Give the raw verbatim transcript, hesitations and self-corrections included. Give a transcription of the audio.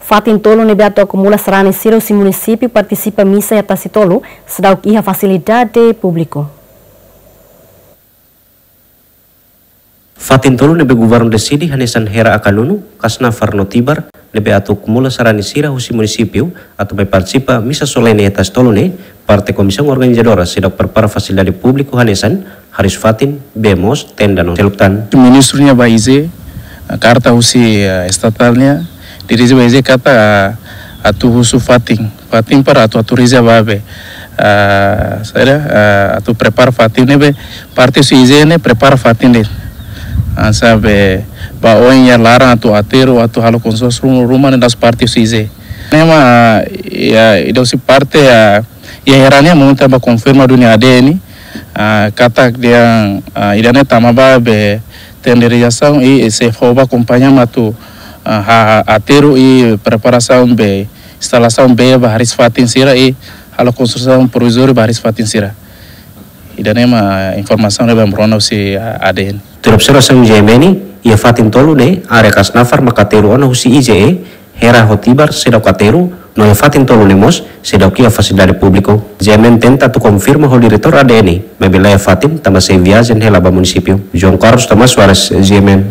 Fatin tolu ne'ebé atu akumula sarani sira husi munisípiu partisipa misa iha Tasitolu seidauk iha fasilidade públiku. Fatin tolu ne'ebé governu deside hanesan Hera Akanunu, Kasnafar no Tibar, ne'ebé atu akumula sarani sira husi munisípiu atu mai partisipa misa solene iha Tasitolu ne'e, parte komisaun organizadora seidauk prepara fasilidade públiku hanesan hariis-fatin, bee moos, tenda no seluk tan. Ministru nia ba I J E, karta husi, eh, estatál nian, dirije ba I J E katak, ah, atu husu fatin, fatin para atu, atu reza ba be, ah, saida, ah, atu prepara fatin ne'ebé, parte husi I J E ne'e prepara fatin de'it. Ah, saida, ba oin iha laran atu aterru, atu halo konstrusaun ruma, ruma ne'e da'os parte husi I J E. Ne'e mak, ya, ida husi parte, ah, iha Hera nian momenta ba konfirma duni A D N, ah, katak dehan, ah, ida-ne'e tama ba be tenderizasaun i sei fó ba kompañia mak atu, ah, ha, ha, aterru i preparasaun be instalasaun bee ba hariis-fatin sira i halo konstrusaun provizóriu ba hariis-fatin sira. Ida-ne'e mak informasaun ne'ebé ami rona husi, ah, A D N. Tuir observasaun G M N, iha fatin tolu ne'e, área Kasnafar maka aterru ona husi I J E, Hera ho Tibar seidauk aterru, no iha fatin tolu ne'e mós seidauk iha fasilidade públiku. G M N tenta atu konfirma ho diretór A D N, maibé laiha fatin tanba sei viajen hela ba munisípiu. João Carlos Tomás Soares, G M N.